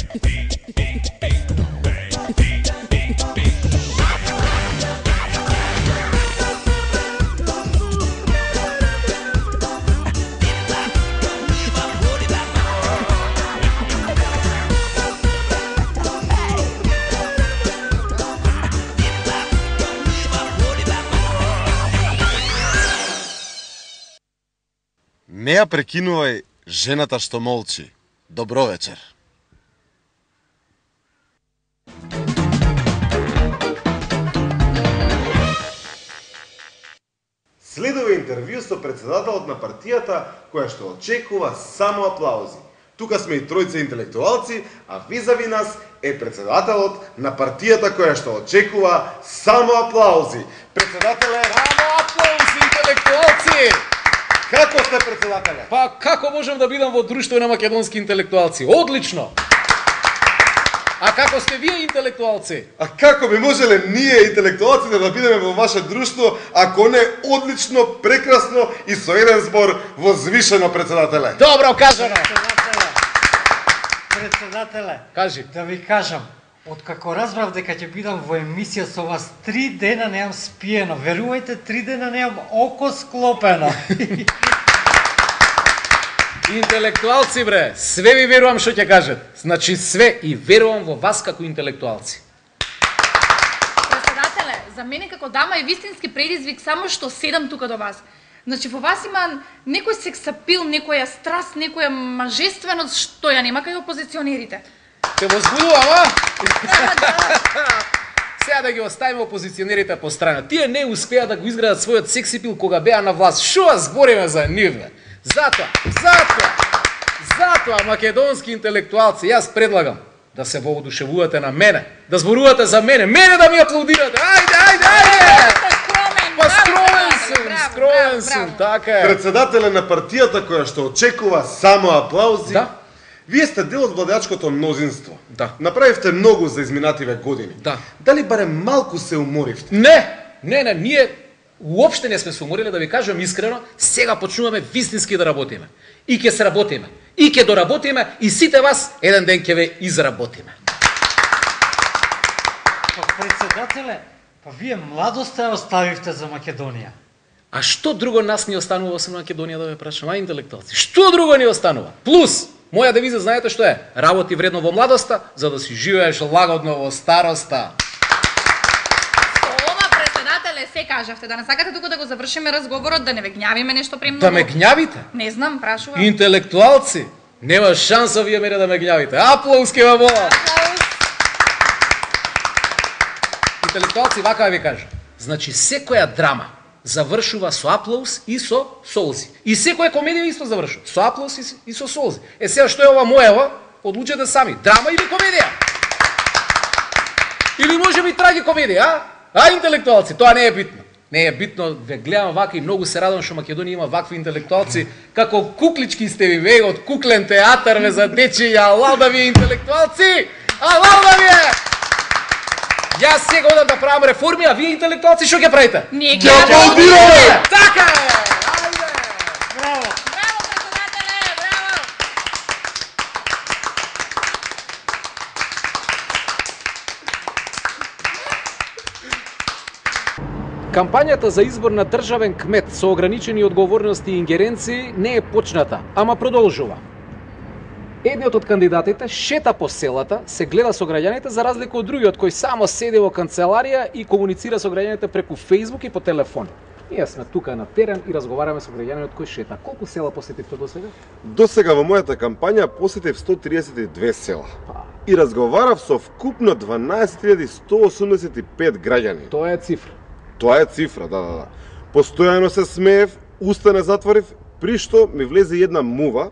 Не ја прекинувај жената што молчи. Добро вечер. Следува интервју со председателот на партијата која што очекува само аплаузи. Тука сме и тројца интелектуалци, а визави нас е председателот на партијата која што очекува само аплаузи. Председателе, Само аплаузи, интелектуалци! како сте, председателе? Па како можам да бидам во друштво на македонски интелектуалци? Одлично! А како сте вие интелектуалци? А како би можеле ние, интелектуалците, да бидеме во ваше друштво, ако не одлично, прекрасно и со еден збор возвишено, председателе? Добро кажано! Председателе, Кажи. да ви кажам, откако разбрав дека ќе бидам во емисија со вас, 3 дена неам спиено. Верувајте, 3 дена неам око склопено. Интелектуалци, бре, све ви верувам што ќе кажат. Значи све и верувам во вас како интелектуалци. Председателе, за мене како дама е вистински предизвик само што седам тука до вас. Значи во вас има некој сексапил, некоја страст, некоја мажественост што ја нема кај опозиционерите. Те возбудувам, а? Сега да ги оставиме опозиционерите по страна. Тие не успеа да го изградат својот сексипил кога беа на власт. Шо збориме за нив, бе? Затоа, македонски интелектуалци, јас предлагам да се воодушевувате на мене, да зборувате за мене да ми аплаудирате. Ајде! Па скромен сум, така е. Председателе на партијата која што очекува само аплаузи, Да. вие сте дел од владеачкото мнозинство. Да. Направивте многу за изминативе години. Да. Дали барем малку се уморивте? Не, ние уопште не сме се уморили, да ви кажам искрено, сега почнуваме вистински да работиме. И ќе сработиме, и ќе доработиме, и сите вас еден ден ќе ве изработиме. Па председателе, па вие младоста ја оставивте за Македонија. А што друго нас ни останува освен Македонија, да ве прашам, интелектуалци? Што друго ни останува? Плюс, моја девиза знаете што е? Работи вредно во младоста, за да си живееш лагодно во староста. Ова, председателе, се кажавте, да не сакате тука да го завршиме разговорот, да не ве гњавиме нешто премногу. Да ме гњавите? Не знам, прашувам. Интелектуалци, нема шанса вие мене да ме гњавите. Аплауз ке ме молам. Аплауз. Интелектуалци, вака да ви кажам. Значи, секоја драма завршува со аплауз и со солзи. И секоја комедија исто завршува со аплауз и со солзи. Сега што е ова моева? Одлучете сами. Драма или комедија? Или може би трагикомедија, а? Интелектуалци, тоа не е битно. Не е битно, ве гледам вака и многу се радам што Македонија има вакви интелектуалци, како куклички сте ви ве од куклен театар ве за дечи, алал да ви интелектуалци! Алал да ви е! Јас сега одам да правам реформи, а вие интелектуалци што ќе правите? Ние Ќе аплаудираме! Така е! Ајде! Браво! Браво, председателе, браво! Кампањата за избор на државен кмет со ограничени одговорности и ингеренции не е почната, ама продолжува. Едниот од кандидатите шета по селата, се гледа со граѓаните за разлика од другиот кој само седи во канцеларија и комуницира со граѓаните преку Facebook и по телефон. Ние сме тука на терен и разговараме со граѓаниот кој шета. Колку села посетивте досега? Досега во мојата кампања посетив 132 села. И разговарав со вкупно 12.185 граѓани. Тоа е цифра. Тоа е цифра, да. Постојано се смеев, уста не затворив, при што ми влезе една мува,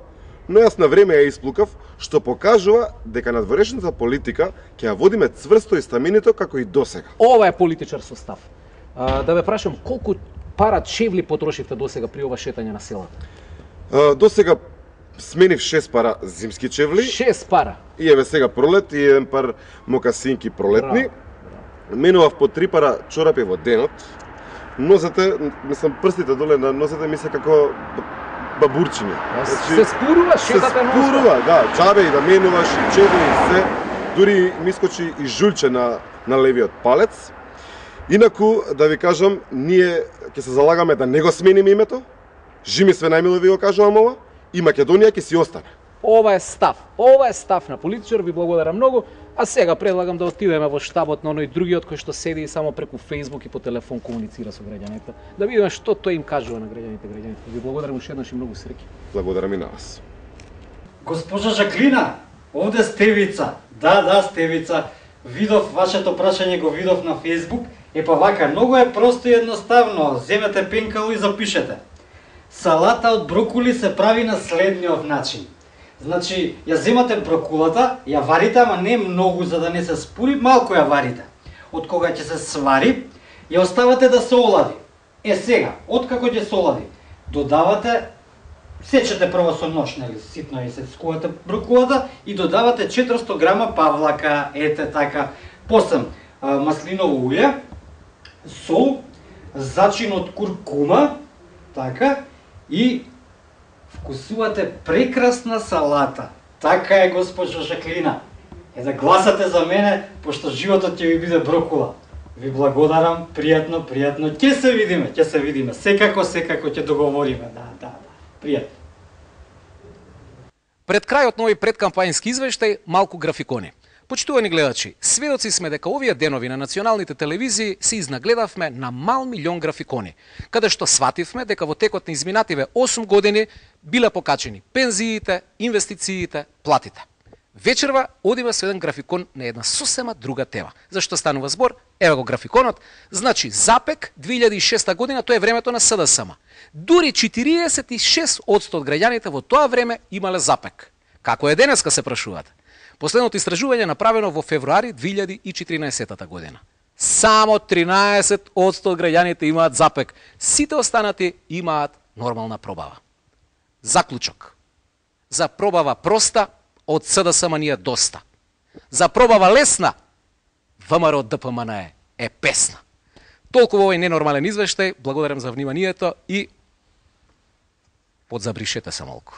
но јас на време ја исплукав, што покажува дека надворешната политика ќе ја водиме цврсто и стаминито како и досега. Ова е политичар со став. Да ве прашам, колку пара чевли потрошивте досега при ова шетање на селата? Досега сменив 6 пара зимски чевли. 6 пара. И еве сега пролет и еден пар мокасинки пролетни. Менував по 3 пара чорапи во денот. Нозете, мислам, прстите доле на нозете ми се како бабурчиња. Се спурува, шетате нон-стоп. спурува, да, џабе и да менуваш, и чеди и се. Дури ми искочи и жулче на левиот палец. Инаку, да ви кажам, ние ќе се залагаме да не го смениме името. Жими све најмило ви го кажувам ова. И Македонија ќе си остане. Ова е став на политичар, ви благодарам многу. А сега предлагам да отидеме во штабот на оној другиот кој што седи и само преку Facebook и по телефон комуницира со граѓаните. Да видиме што тој им кажува на граѓаните. Ви благодарам уште еднаш и многу среќи. Благодарам и на вас. Госпожа Жаклина, овде Стевица. Да, Стевица. Видов вашето прашање, го видов на Facebook. Па вака, многу е просто и едноставно. Земете пенкало и запишете. Салата од брокули се прави на следниот начин. Значи, ја земате брокулата, ја варите, ама не многу за да не се спури, малку ја варите. Од кога ќе се свари, ја оставате да се олади. Сега, откако ќе се олади, додавате, сечете прво со нож, нели, ситно и се скувате брокулата и додавате 400 грама павлака, ете така, после маслиново уље, сол, зачин од куркума, така, и вкусувате прекрасна салата. Така е, госпожо Жаклина. Да гласате за мене, пошто животот ќе ви биде брокула. Ви благодарам, пријатно. Ќе се видиме. Секако ќе договориме. Да. Пријатно. Пред крајот на овој предкампањски извештај, малку графикони. Почитувани гледачи, сведоци сме дека овие денови на националните телевизии се изнагледавме на мал милион графикони, каде што свативме дека во текот на изминативе 8 години биле покачени пензиите, инвестициите, платите. Вечерва одиме со еден графикон на една сосема друга тема. Зашто станува збор? Еве го графиконот. Значи, Запек 2006 година, тоа е времето на СДСМ. Дури 46% од граѓаните во тоа време имале Запек. Како е денеска, се прашувате? Последното истражување е направено во февруари 2014 година. Само 13% од граѓаните имаат Запек. Сите останати имаат нормална пробава. Заклучок. За пробава проста, од СДСМ ни е доста. За пробава лесна, ВМРО од ДПМН е песна. Толку во овој ненормален извештај, благодарам за вниманието и подзабришете се малку.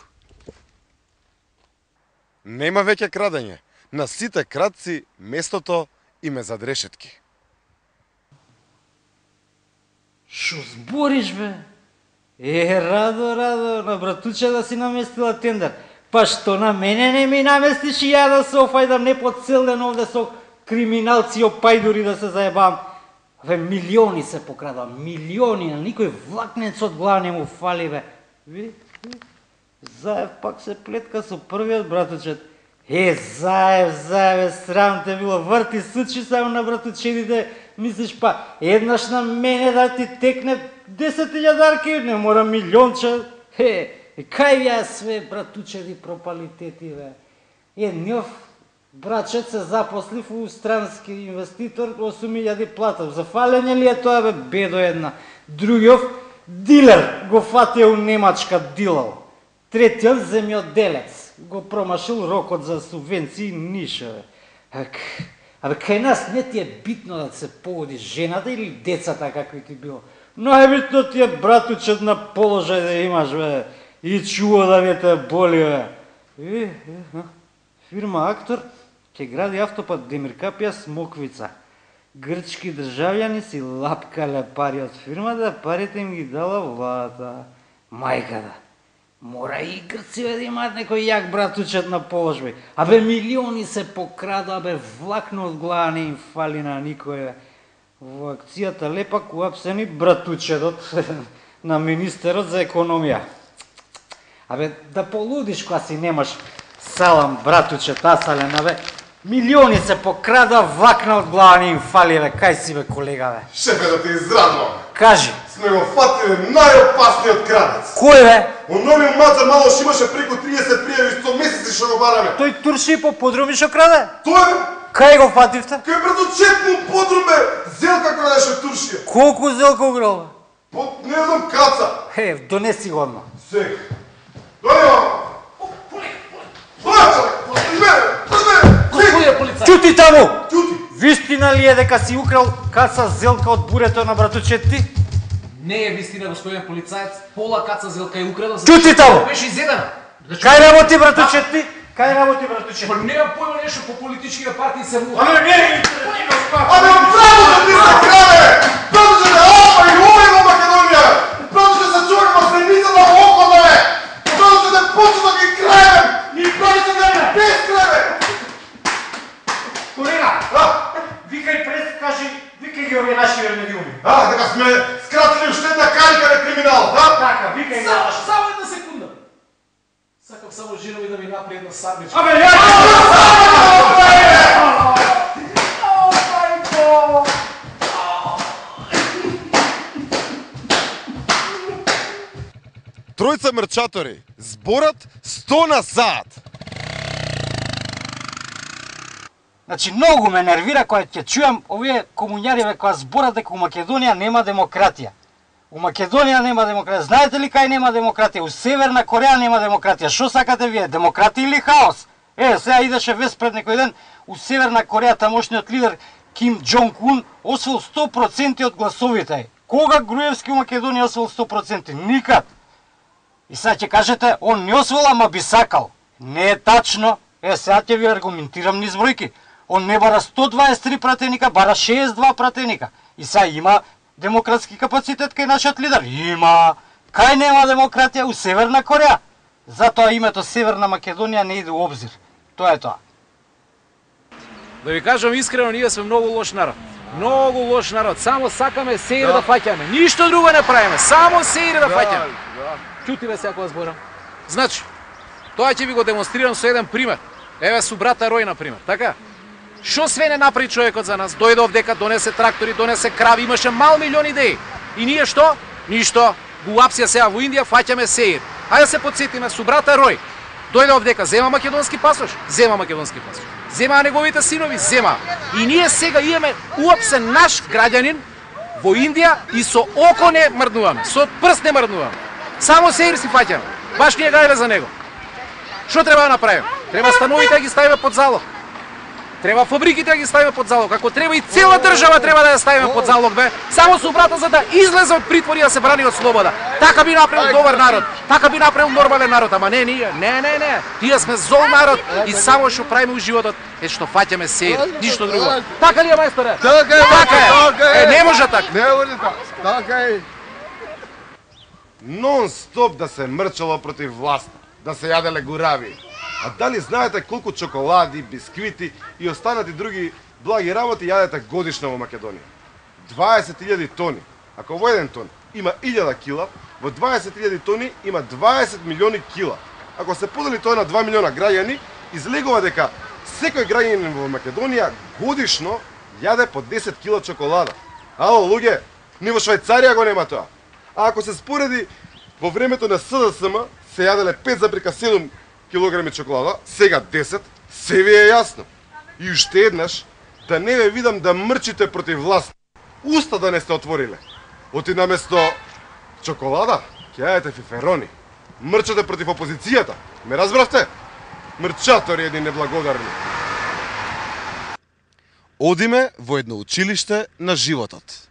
Нема веќе крадење. На сите кратци местото им е зад решетки. Шо збориш, бе? Радо, на братуче да си наместила тендер. Па што на мене не ми наместиш и ја да се офајдам не по цел ден овде со криминалци и опајдури да се заебам. Милиони се покрадам, милиони, на никој влакнец од глава не му фали, бе. Заев пак се плетка со првиот братучет. Заев, срам те било, врти сучи само на братучедите, мислиш па, еднаш на мене да ти текне 10.000 не мора милионче. Кај ја све братучеди пропалитети, бе. Едниот брачет се запослив у странски инвеститор, 8.000 плата. За фалење ли е тоа, бе, бедо една. Другиот дилер го фатија у Немачка дилал. Третиот земјоделец го промашил рокот за субвенции ниша, бе. Абе, кај нас не ти е битно да се погоди жената или децата какви ти било. Најбитно ти е братучет на положај да имаш, бе. И чува да ви те боли, бе. Фирма Актор ќе гради автопат Демиркапија Смоквица. Грчки државјани си лапкале пари од фирмата, парите им ги дала владата. Мајката. Мора и грци да имаат некој јак братучет на положби. Абе, милиони се покрада, абе, влакно од глава не им фали на никој. Во акцијата лепак уапсени братучетот на министерот за економија. Абе, да полудиш кога си немаш салам, братучет, асален, абе, милиони се покрада, влакна од глава не им фали, бе, кај си, бе, колега, бе? Шефе, да те израдвам. Кажи. Сме го фатиле најопасниот крадец. Кој, бе? Оној мацар малош имаше преку 30 пријави, 100 месеци што го бараме. Тој турши по подруми што краде? Тој, бе? Кај го фативте? Кај братучетно подрум, бе, Зелка крадеше туршија. Колку Зелка украл, бе? По, не знам, каца. Донеси го одма. Сега. Дојде, мамо. Чути таму! Чути! Вистина ли е дека си украл каца Зелка од бурето на братучет ти? Не е вистина, господин полицаец. Пола каца зелка и украда. Чути таму! Беше изедена. Кај работи, братуче, ти? Кај работи, братуче? Па немам појма нешто по политичките партии се му. Абе право да ти се краве! Пратеше да ова и ова во Македонија! Пратеше да се човек во средницата во около е! Пратеше да почне да ги кравем! И пратеше да не без краве! Колега, викај пред, викај ги овие наши вернедиуми. Дека сме скратили уште една карика на криминал, Така, викај ги наши. Само една секунда. Сакам само жена ми да ми направи една сармичка. Абе, ја! Тројца мрчатори, зборат 100 на сат. Значи, многу ме нервира кога ќе чујам овие комуњари кои зборат дека у Македонија нема демократија. У Македонија нема демократија. Знаете ли кај нема демократија? У Северна Кореја нема демократија. Што сакате вие? Демократија или хаос? Сега идеше вест пред некој ден у Северна Кореја тамошниот лидер Ким Џонг Ун освоил 100% од гласовите. Кога Груевски у Македонија освоил 100%? Никад. И сега ќе кажете, он не освоил, ама би сакал. Не е тачно. Сега ќе ви аргументирам низ бројки. Он не бара 123 пратеника, бара 62 пратеника. И сега има демократски капацитет кај нашиот лидер? Има. Кај нема демократија? У Северна Кореја. Затоа името Северна Македонија не иде у обзир. Тоа е тоа. Да ви кажам искрено, ние сме многу лош народ. Многу лош народ. Само сакаме сеир да фаќаме. Ништо друго не правиме. Само сеир да фаќаме. Чути ве сега кога зборам. Значи, тоа ќе ви го демонстрирам со еден пример. Еве со брата Рој на пример, така? Што све не направи човекот за нас? Дојде овдека, донесе трактори, донесе крави, имаше мал милион идеи. И ние што? Ништо. Гуапсија сега во Индија, фаќаме сеир. Ајде се подсетиме со брата Рој. Дојде овдека, зема македонски пасош, зема македонски пасош. Зема неговите синови, зема. И ние сега имаме уопсе наш граѓанин во Индија и со око не мрднуваме, со прст не мрднуваме. Само сеир си фаќаме. Баш ние гајле за него. Што треба да направиме? Треба становите да ги ставиме под залог. Треба фабриките да ги ставиме под залог. Ако треба и цела држава треба да ја ставиме под залог, бе. Само со брата за да излезе од притвор и да се брани од слобода. Така би направил добар народ. Така би направил нормален народ, ама не ние. Не. Тие сме зол народ и само што правиме у животот е што фаќаме сеир, ништо друго. Така ли е, мајсторе? Така е. Не може така. Не може така. Така е. Нон-стоп да се мрчало против власт, да се јаделе гурави. А дали знаете колку чоколади, бисквити и останати други благи работи јадете годишно во Македонија? 20.000 тони. Ако во еден тон има 1000 кила, во 20.000 тони има 20 милиони кила. Ако се подели тоа на 2 милиона граѓани, излегува дека секој граѓанин во Македонија годишно јаде по 10 кила чоколада. Ало, луѓе, ни во Швајцарија го нема тоа. А ако се спореди, во времето на СДСМ се јаделе 5,7 килограми чоколада, сега 10, се ви е јасно. И уште еднаш, да не ве видам да мрчите против власт. Уста да не сте отвориле. Оти наместо чоколада, ќе јадете фиферони. Мрчате против опозицијата. Ме разбравте? Мрчатори едни неблагодарни. Одиме во едно училиште на животот.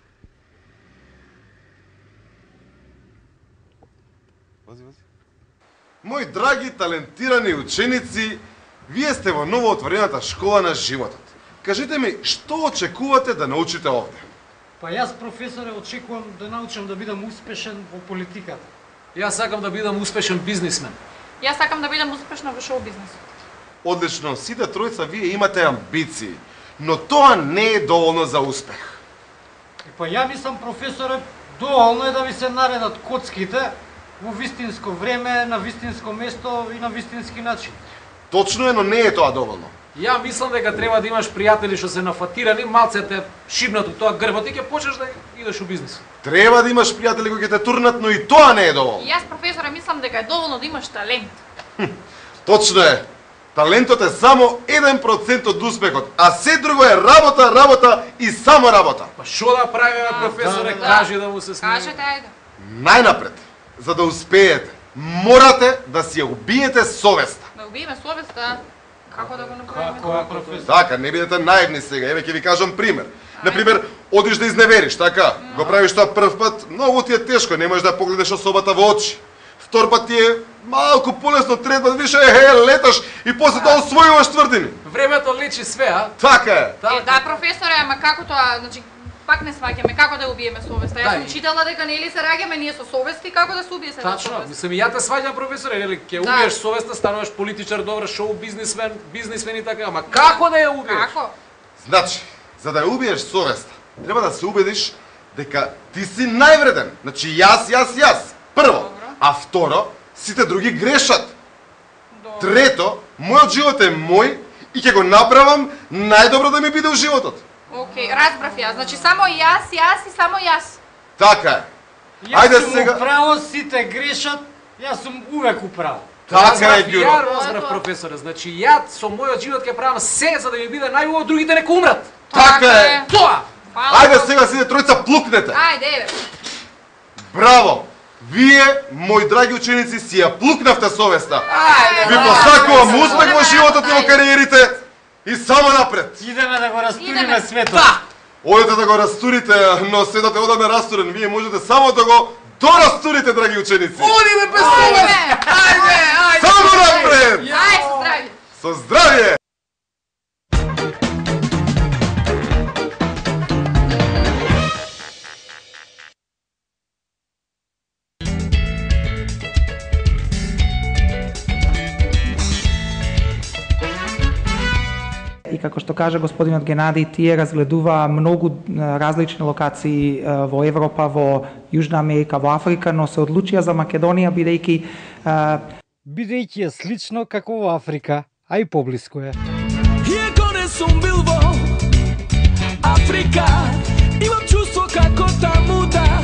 Мои драги, талентирани ученици, вие сте во новоотворената школа на животот. Кажете ми, што очекувате да научите овде? Па јас, професоре, очекувам да научам да бидам успешен во политиката. Јас сакам да бидам успешен бизнисмен. Јас сакам да бидам успешна во шоу бизнисот. Одлично, сите тројца вие имате амбиции, но тоа не е доволно за успех. Па ја мислам, професоре, доволно е да ви се наредат коцките во вистинско време, на вистинско место и на вистински начин. Точно е, но не е тоа доволно. Ја мислам дека треба да имаш пријатели што се нафатирани, малце те шибнат од тоа грбот и ќе почнеш да идеш у бизнис. Треба да имаш пријатели кои ќе те турнат, но и тоа не е доволно. И јас, професоре, мислам дека е доволно да имаш талент. Точно е. Талентот е само 1% од успехот, а се друго е работа, работа и само работа. Па што да правиме, професоре, кажи да му се смее. Кажете, ајде. Најнапред, за да успеете, морате да си ја убиете совеста. Да убиеме совеста. Како да го направиме? Како е, професор? Така, не бидете наивни сега, еве ќе ви кажам пример. Например, одиш да изневериш, така? Го правиш тоа прв пат, многу ти е тешко, не можеш да погледнеш особата во очи. Втор пат ти е малку полесно, трет пат више леташ и после тоа освојуваш тврдини. Времето лечи све, а? Така е. Да, професоре, ама како тоа, значи пак не сваќаме како да убиеме совеста. Јас сум читала дека нели се раѓаме ние со совести, како да се убие се Тачно, совест. мислам и ја те сваѓам, професоре, нели ќе убиеш совеста, стануваш политичар, добар шоу бизнисмен и така, ама како да ја убиеш? Како? Значи, за да ја убиеш совеста, треба да се убедиш дека ти си највреден. Значи јас. Прво, а второ, сите други грешат. Трето, мојот живот е мој и ќе го направам најдобро да ми биде во животот. Океј, разбрав ја. Значи само јас и само јас. Така е. Јас Ајде сум сега. управо, сите грешат, јас сум увек управо. Така е, Ѓуро. Ја разбрав, професоре, значи ја со мојот живот ќе правам се за да ми биде најубаво, другите нека умрат. Така е. Тоа! Ајде сега сите тројца плукнете. Ајде, еве. Браво! Вие, мои драги ученици, си ја плукнавте совеста. Ајде. Ви посакувам успех во животот и во кариерите и само напред. Идеме да го растуриме Идеме. светот. Да! Одете да го растурите, но светот е одаме растурен. Вие можете само да го дорастурите, драги ученици. Одиме без совест! Ајде! Само напред! Ајде, со здравје. Со здравје! И како што кажа господинот Геннади, тие разгледуваа многу различни локации во Европа, во Јужна Америка, во Африка, но се одлучија за Македонија Бидејќи е слично како во Африка, а и поблиску е. Иако не сум бил во Африка, имам чувство како таму да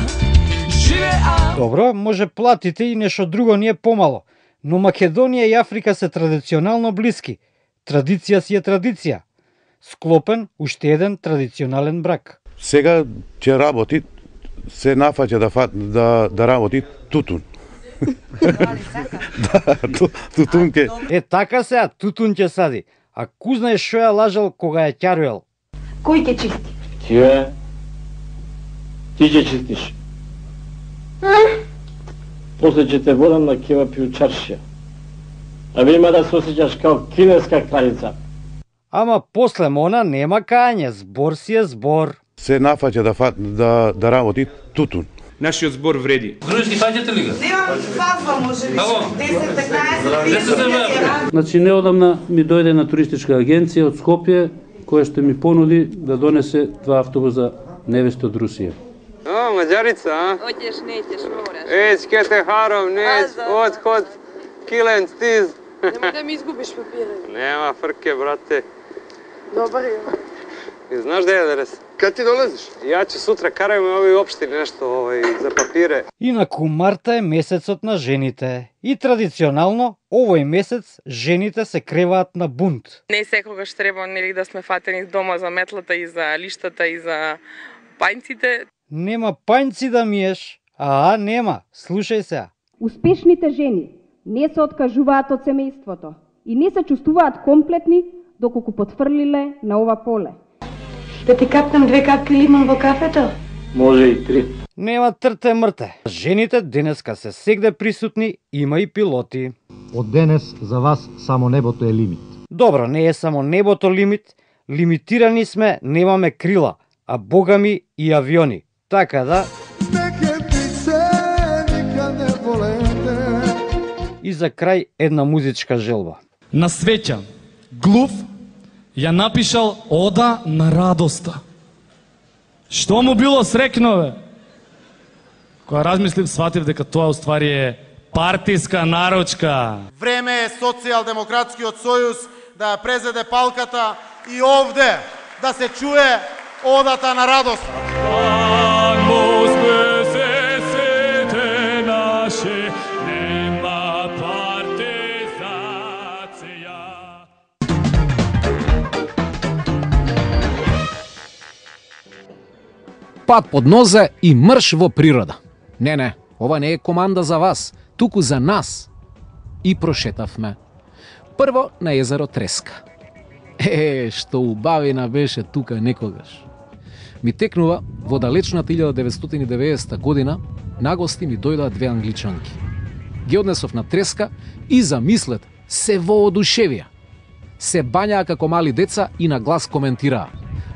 живеа. Добро, може платите и нешто друго не е помало, но Македонија и Африка се традиционално блиски. Традиција си е традиција. Склопен уште еден традиционален брак. Сега ќе работи, се нафаќа да работи тутун. Тутун ке. Е така сега, тутун ќе сади. А ку знаеш шо ја лажал кога ја ќаруел? Кој ќе чисти? Ти ќе чистиш. После ќе те водам на кева пијучаршија. А ви има да се осеќаш као кинеска крајица. Ама после мона нема кање, збор си е збор. Се нафаќа да работи тутун. Нашиот збор вреди. Дружки фаќате ли го? Немам фазба, може би. 10-15. Значи неодамна ми дојде на туристичка агенција од Скопје, која што ми понуди да донесе 2 автобуса невеста од Русија. О, Маđarica, a? Hoćeš, nećeš, moraš. Eć, ke te harom, neć, odhod, kilen, stiz. Nemoj da mi izgubiš papire. Nema frke, brate. Dobar je. I znaš gde je adres? Kad ti dolaziš? Ja ću sutra, karajmo ovoj opštini nešto za papire. Инаку марта е месецот на жените. И традиционално, овој месец, жените се креваат на бунт. Не секогаш треба нели да сме фатени дома за метлата и за лиштата и за пајнците. Нема пајнци да миеш. Нема. Слушај се. Успешните жени не се откажуваат од семејството и не се чувствуваат комплетни доколку потфрлиле на ова поле. Да ти капнам 2 капки лимон во кафето? Може и 3. Нема трте мрте. Жените денеска се сегде присутни, има и пилоти. Од денес за вас само небото е лимит. Добро, не е само небото лимит, лимитирани сме, немаме крила, а богами и авиони. Така да... И за крај една музичка желба. На свеќа, Глув ја напишал Ода на радоста. Што му било срекно, бе? Кога размислив, сватив дека тоа уствари е партиска наручка. Време е Социјалдемократскиот сојуз да ја презеде палката и овде да се чуе Одата на радоста. Пат под нозе и мрш во природа. Не, ова не е команда за вас, туку за нас. И прошетавме. Прво на езеро Треска. Што убавина беше тука некогаш. Ми текнува во далечната 1990 година, нагости ми дојдаа две англичанки. Ги однесов на треска и замислете, се воодушевија. Се бањаа како мали деца и на глас коментираа: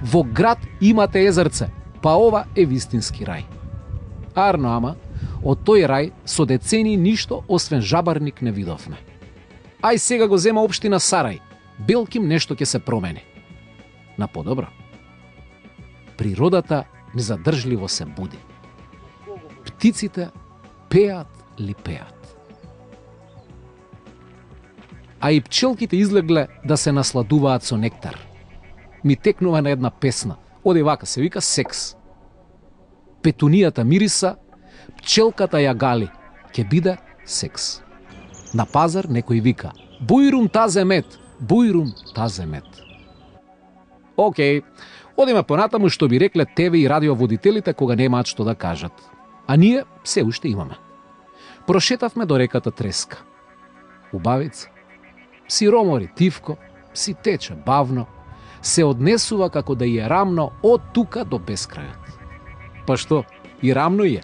во град имате езерце, па ова е вистински рај. Арно ама, од тој рај со децени ништо освен жабарник не видовме. Ај сега го зема општина Сарај, белким нешто ќе се промени. На подобро. Природата незадржливо се буди. Птиците пеат ли пеат. А и пчелките излегле да се насладуваат со нектар. Ми текнува на една песна, оди вака се вика секс. Петунијата мириса, пчелката ја гали, ќе биде секс. На пазар некој вика: бујрум тазе мет, бујрум тазе мет. Океј, одиме понатаму што би рекле ТВ и радиоводителите кога немаат што да кажат. А ние се уште имаме. Прошетавме до реката Треска. Убавица. Си ромори тивко, си тече бавно, се однесува како да ја рамно од тука до бескрајот. Па што, и рамно е,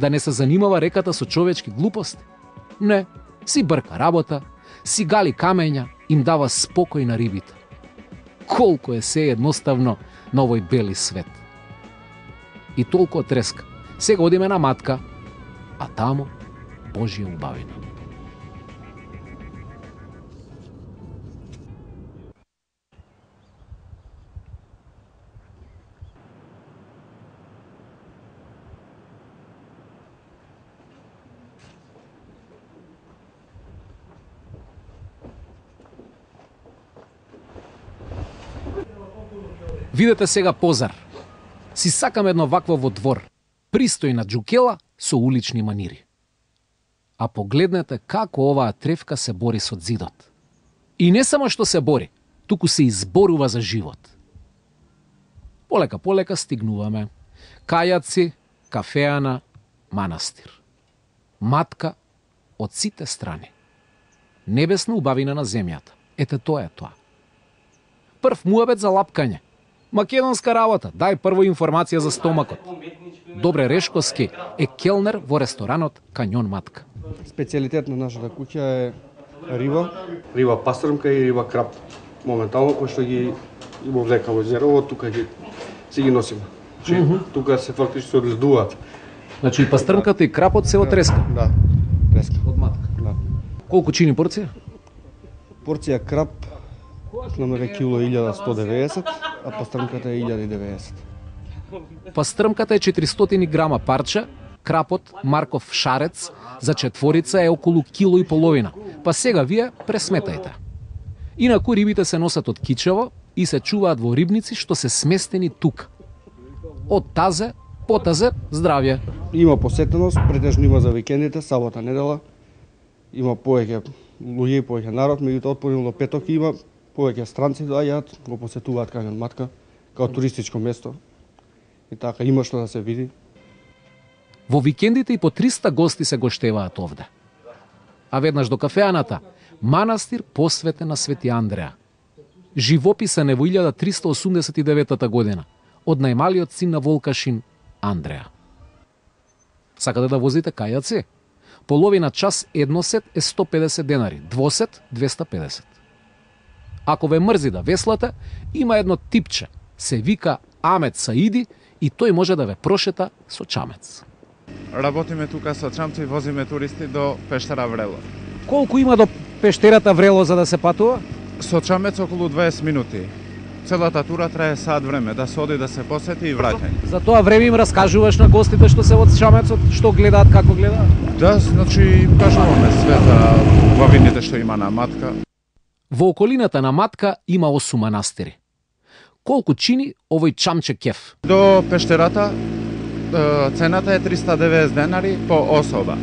да не се занимава реката со човечки глупости? Не, си брка работа, си гали камења, им дава спокој на рибите. Колку е се едноставно на овој бели свет. И толку од Треска. Сега одиме на Матка, а таму Божја убавина. Видете сега позар. Си сакам едно вакво во двор. Пристојна џукела со улични манири. А погледнете како оваа тревка се бори со зидот. И не само што се бори, туку се изборува за живот. Полека стигнуваме. Кајаци, кафеана, манастир. Матка од сите страни. Небесна убавина на земјата. Ете тоа е тоа. Прв муабет за лапкање. Македонска работа, дај прво информација за стомакот. Добре Решковски е келнер во ресторанот Каньон Матка. Специјалитет на нашата куќа е риба пастрмка и риба крап. Моментално, кој што ги вовлека во езерово, тука си ги носиме. Тука се фактично се одледуваат. Значи и пастрмката и крапот се од Треска? Да, Треска. Од Матка? Да. Колку чини порција? Порција крап намере кило 1190, а пастрмката е 1090. Пастрмката е 400 грама парче, крапот Марков шарец за четворица е околу кило и половина. Па сега вие пресметајте. Инаку рибите се носат од Кичево и се чуваат во рибници што се сместени тука. Од тазе, потазе, здравје. Има посетеност, претежно има за викендите, сабота, недела. Има повеќе луѓе, повеќе народ, меѓутоа од понеделник до петок има повеќе странци доаѓаат, го посетуваат Каньон Матка како туристичко место. И така има што да се види. Во викендите и по 300 гости се гоштеваат овде. А веднаш до кафеаната, манастир посветен на Свети Андреа. Живописен е во 1389 година од најмалиот син на Волкашин, Андреа. Сакате да возите кајаци? Половина час едносет е 150 денари, двосет 250. Ако ве мрзи да веслате, има едно типче, се вика Амет Саиди и тој може да ве прошета со чамец. Работиме тука со чамци и возиме туристи до пештера Врело. Колку има до пештерата Врело за да се патува? Со чамец околу 20 минути. Целата тура трае сат време, да се оди да се посети и враќање. За тоа време им раскажуваш на гостите што се од чамецот, што гледаат, како гледаат? Да, значи им кажуваме све за убавините што има на Матка. Во околината на Матка има 8 манастири. Колку чини овој чамче кеф? До пештерата цената е 390 денари по особа.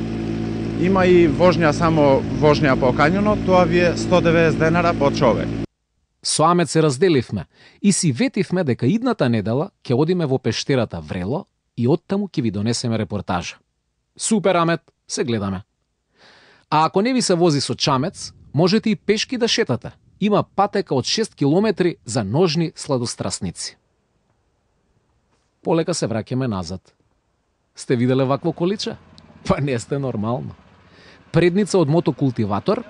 Има и вожња, само вожња по кањонот, тоа ви е 190 денара по човек. Со Амет се разделивме и си ветивме дека идната недела ќе одиме во пештерата Врело и оттаму ќе ви донесеме репортажа. Супер, Амет, се гледаме. А ако не ви се вози со чамец, можете и пешки да шетате. Има патека од 6 километри за ножни сладострасници. Полека се враќаме назад. Сте виделе вакво количе? Па не сте нормално. Предница од мотокултиватор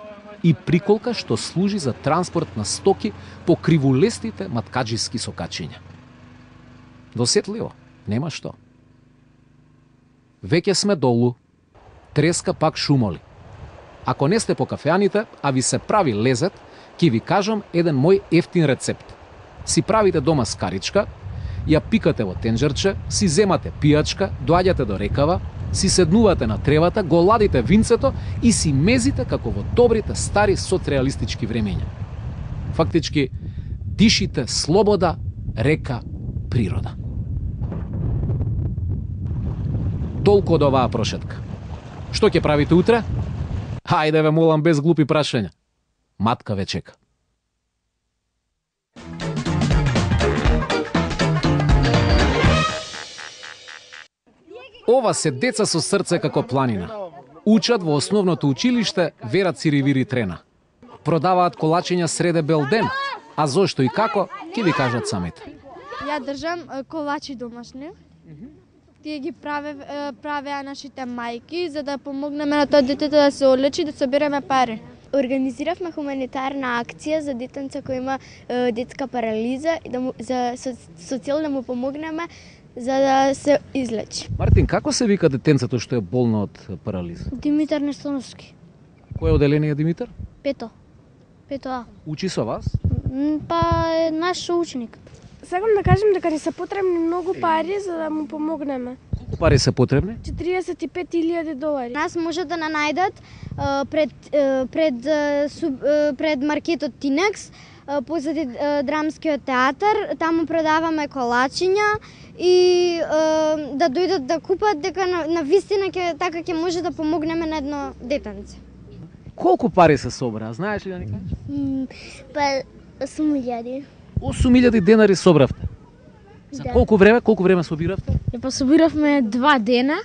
и приколка што служи за транспорт на стоки по кривулестите маткаджиски сокачиња. Досетливо, нема што. Веќе сме долу. Треска пак шумоли. Ако не сте по кафеаните, а ви се прави лезет, ќе ви кажам еден мој ефтин рецепт. Си правите дома скаричка, ја пикате во тенџерче, си земате пијачка, доаѓате до рекава, си седнувате на тревата, го ладите винцето и си мезите како во добрите стари соцреалистички времења. Фактички, дишите слобода, река, природа. Толку од оваа прошетка. Што ќе правите утре? Хајде ве молам без глупи прашања. Матка ве чека. Ова се деца со срце како планина. Учат во основното училиште Вера Циривири Трена. Продаваат колачиња среде бел ден, а зошто и како, ќе ви кажат самите. Ја држам колачи домашни. Тие ги правеа нашите мајки за да помогнеме на тоа детето да се одлечи, да собереме пари. Организиравме хуманитарна акција за детенце кој има детска парализа и со цел да му помогнеме за да се излечи. Мартин, како се вика детенцето што е болно од парализа? Димитар Нестоновски. Кој оделение Димитар? Пето А. Учи со вас? Па е наш ученик. Сакам да кажем дека ни се потребни многу пари за да му помогнеме. Колку пари се потребни? $45,000. Нас може да најдат пред маркетот Тинекс, позади драмскиот театар, таму продаваме колачиња и да дојдат да купат дека на вистина така ќе може да помогнеме на едно детенце. Колку пари се собраа, знаеш ли да ни кажеш? Па 8.000. 8.000 денари собравте. За колку време собиравте? Па собиравме 2 дена,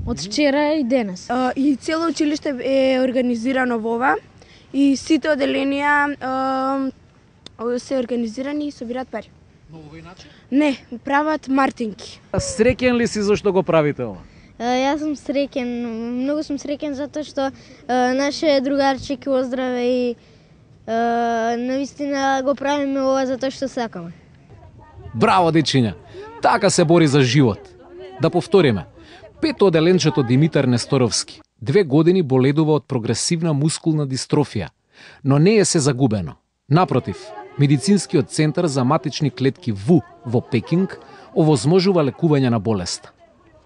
од вчера и денес. И цело училиште е организирано во ова и сите оделенија се организирани и собираат пари. На овој начин? Не, прават мартинки. Среќен ли си зашто го правите ова? Јас сум среќен, многу сум среќен затоа што наше другарче ќе оздраве и навистина го правиме ова затоа што сакаме. Браво, дечиња! Така се бори за живот. Да повториме. Пето оделенчето Димитар Несторовски 2 години боледува од прогресивна мускулна дистрофија, но не е се загубено. Напротив, медицинскиот центар за матични клетки ВУ во Пекинг овозможува лекување на болеста.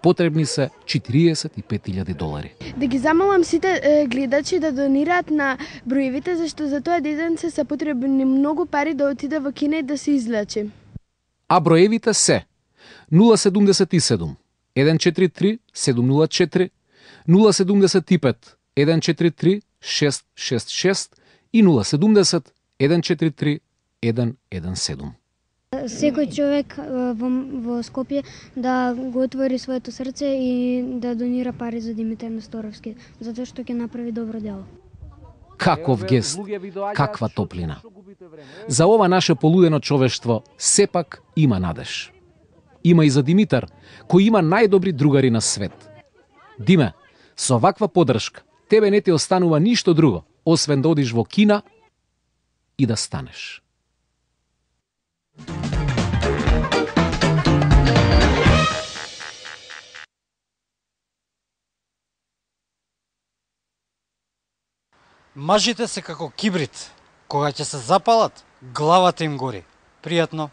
Потребни се $45,000. Да ги замолам сите гледачи да донираат на броевите, зашто за тоа детенце се потребни многу пари да отиде во кино и да се излечи. А броевите се 077 143 704, 075 143 666 и 070 143 117. Секој човек во Скопје да го отвори своето срце и да донира пари за Димитар Несторовски, затоа што ќе направи добро дело. Каков гест, каква топлина. За ова наше полудено човештво сепак има надеж. Има и за Димитар, кој има најдобри другари на свет. Диме, со ваква поддршка, тебе не ти останува ништо друго, освен да одиш во кина и да станеш. Мажите се како кибрид. Кога ќе се запалат, главата им гори. Пријатно.